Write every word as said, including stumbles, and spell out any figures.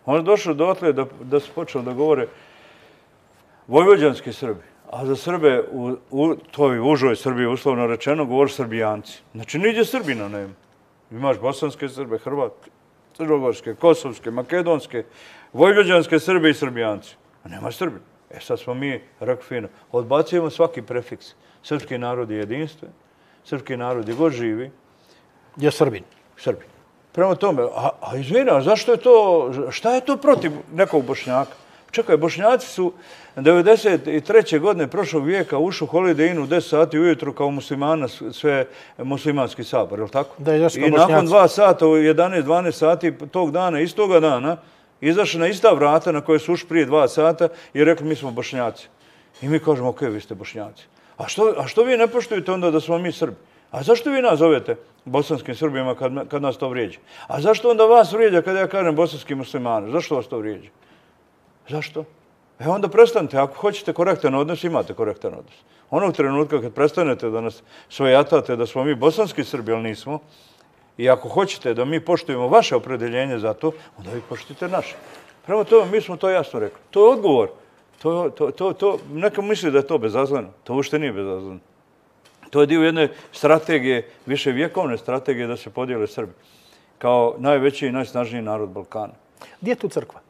On je došao dotle da, da su počeli da govore vojvođanski Srbi, a za Srbe u, u toj užoj Srbiji, uslovno rečeno, govore Srbijanci. Znači, niđe Srbina nema. Imaš bosanske Srbe, Hrvatske, crnogorske, kosovske, makedonske, vojvođanske Srbe i Srbijanci. A nema Srbina. E sad smo mi, rekli fino, odbacujemo svaki prefiks. Srpski narod je jedinstven, srpski narod je god živi. Je Srbin. Srbin. Prema tome, a, a izvina, zašto je to, šta je to protiv nekog Bošnjaka? Čekaj, Bošnjaci su devedeset treće godine prošlog vijeka ušli u Holiday Inn u deset sati ujutru kao muslimana, sve muslimanski sabor, je li tako? Da, jesu kao I Bošnjaci. nakon dva sata u jedanaest dvanaest sati tog dana, istoga dana, izašli na ista vrata na koje su ušli prije dva sata i rekli mi smo Bošnjaci. I mi kažemo, ok, vi ste Bošnjaci. A što, a što vi ne poštujete onda da smo mi Srbi? A zašto vi nas zovete bosanskim Srbima kad, kad nas to vrijeđa? A zašto onda vas vrijeđa kad ja kažem bosanski muslimani? Zašto vas to vrijeđa? Zašto? E onda prestanite. Ako hoćete korektan odnos, imate korektan odnos. Onog trenutka kad prestanete da nas svojatate da smo mi bosanski Srbi, ali nismo, i ako hoćete da mi poštujemo vaše opredeljenje za to, onda vi poštujete naše. Prema tome, mi smo to jasno rekli. To je odgovor. To, to, to, to, neka misli da je to bezazleno. To uopšte nije bezazleno. To je dio jedne strategije, više vjekovne strategije da se podijele Srbi kao najveći i najsnažniji narod Balkana. Gdje je tu crkva?